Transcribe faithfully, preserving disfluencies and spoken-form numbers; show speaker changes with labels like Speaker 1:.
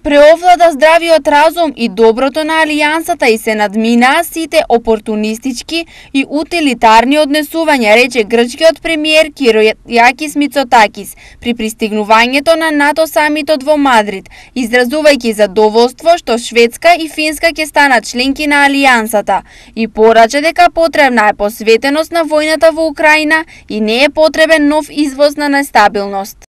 Speaker 1: Преовлада здравиот разум и доброто на алијансата и се надминаа сите опортунистички и утилитарни однесувања, рече грчкиот премиер Киријакис Мицотакис при пристигнувањето на НАТО самитот во Мадрид, изразувајќи задоволство што Шведска и Финска ќе станат членки на алијансата и порача дека потребна е посветеност на војната во Украина и не е потребен нов извоз на нестабилност.